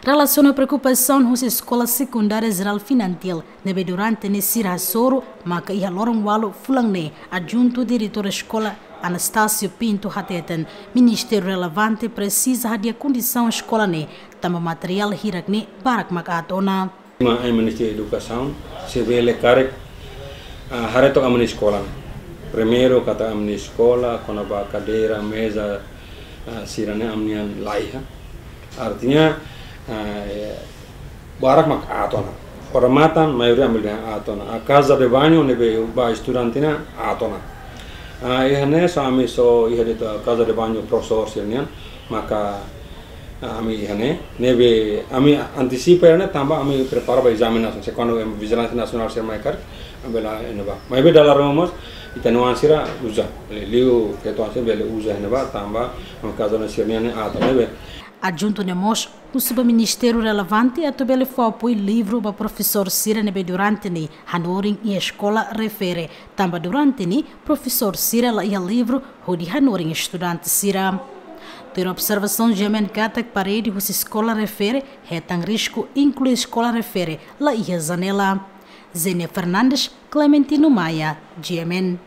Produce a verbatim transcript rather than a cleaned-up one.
Relasiona preokupasaun husi Eskola Sekundária Jerál Finantil ne'ebé durante ne'e sira hasoru, maka iha loron ualu fulan ne'e, Adjuntu Diretór Eskola Anastácio Pinto hateten, ministériu relevante presiza hadi'a kondisaun eskola ne'e, tanba materiál hirak ne'e barak mak aat ona. Ema Ministériu Edukasaun, se bele karik, ah, haree took ami-nia eskola. Primeiru katak ami-nia eskola, kona-ba kadeira, meza, ah, sira-ne'e ami-nian laiha. Artinya, ah, eh, barak mak aat ona. Odamatan, maioria ami dehan aat ona. A casa de banho, ne'ebé ba estudante nian, aat ona. Ah, iha ne'e só ami só iha de'it casa de banho profesór sira-nian, maka, ah, ami iha ne'e, ne'ebé ami antisipa ne'e tanba ami prepara ba ezame nasionál. Se kuandu em vijilánsia nasionál sira mai karik, ami bele iha ne'ebá. Maibé dala ruma mós, ita-nia oan sira uza. Liuliu feto-oan sira bele uza iha ne'ebá, tanba, no kazu ne'e sira-nian ne'e aat, ne'ebé. Adjuntu ne'e mós husu ba ministériu relevante atu bele fó apoiu livru ba profesór sira ne'ebé durante ne'e hanorin iha eskola refere, tanba durante ne'e profesór sira la iha livru hodi hanorin estudante sira. Tuir observasaun GMN katak parede husi eskola refere hetan risku, inklui eskola refere la iha janela. Zenia Fernandes, Clementino Maia, GMN.